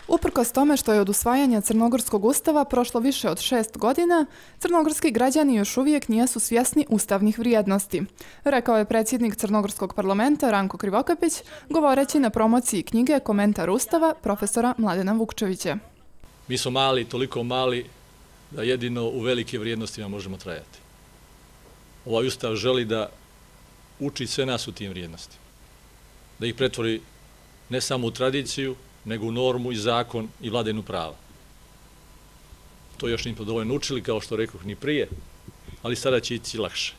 Uprkos tome što je od usvajanja Crnogorskog ustava prošlo više od 6 godina, crnogorski građani još uvijek nisu svjesni ustavnih vrijednosti, rekao je predsjednik Crnogorskog parlamenta Ranko Krivokapić, govoreći na promociji knjige Komentar ustava profesora Mladena Vukčevića. Mi smo mali, toliko mali da jedino u velike vrijednostima možemo trajati. Ovaj ustav želi da uči sve nas u tim vrijednostima, da ih pretvori ne samo u tradiciju, nego u normu i zakon i vladavinu prava. To još nismo dovoljno učili, kao što rekoh, ni prije, ali sada će ići lakše.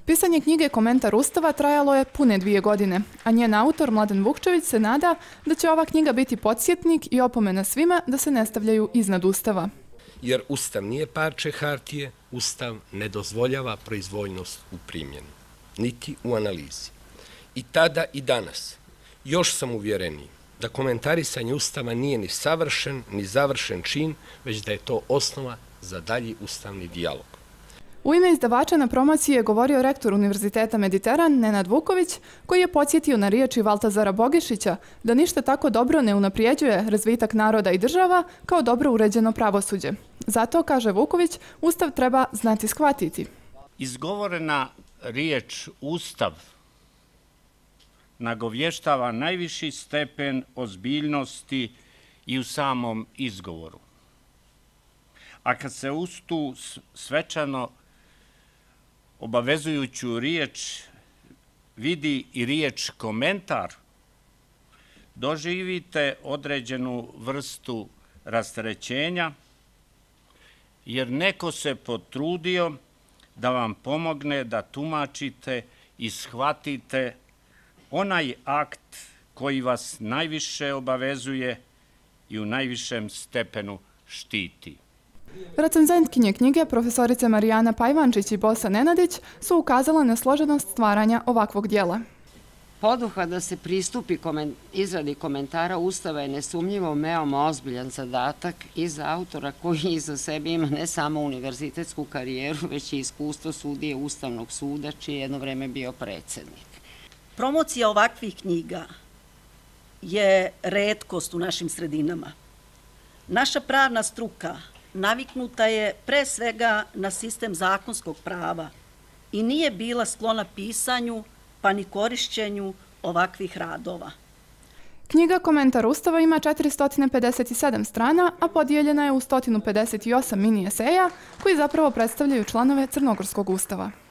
Pisanje knjige Komentar ustava trajalo je pune 2 godine, a njen autor Mladen Vukčević se nada da će ova knjiga biti podsjetnik i opomena svima da se ne stavljaju iznad ustava. Jer ustav nije parče hartije, ustav ne dozvoljava proizvoljnost u primjenu, niti u analizi. I tada i danas još sam uvjereniji da komentarisanje ustava nije ni savršen, ni završen čin, već da je to osnova za dalji ustavni dijalog. U ime izdavača na promociji je govorio rektor Univerziteta Mediteran Nenad Vuković, koji je podsjetio na riječi Valtazara Bogišića da ništa tako dobro ne unaprijeđuje razvitak naroda i država kao dobro uređeno pravosuđe. Zato, kaže Vuković, ustav treba znati shvatiti. Izgovorena riječ ustav nagovještava najviši stepen ozbiljnosti i u samom izgovoru. A kad se uz tu svečano obavezujuću riječ vidi i riječ komentar, doživite određenu vrstu rasterećenja, jer neko se potrudio da vam pomogne da tumačite i shvatite onaj akt koji vas najviše obavezuje i u najvišem stepenu štiti. Recenzentkinje knjige profesorice Marijana Pajvančić i Bosa Nenadić su ukazale na složenost stvaranja ovakvog dijela. Poduhvat da se pristupi izradi komentara ustava je nesumnjivo veoma ozbiljan zadatak i za autora koji iza sebe ima ne samo univerzitetsku karijeru, već i iskustvo sudije Ustavnog suda, čiji je jedno vreme bio predsjednik. Promocija ovakvih knjiga je retkost u našim sredinama. Naša pravna struka naviknuta je pre svega na sistem zakonskog prava i nije bila sklona pisanju pa ni korišćenju ovakvih radova. Knjiga Komentar ustava ima 457 strana, a podijeljena je u 158 mini eseja koji zapravo predstavljaju članove Crnogorskog ustava.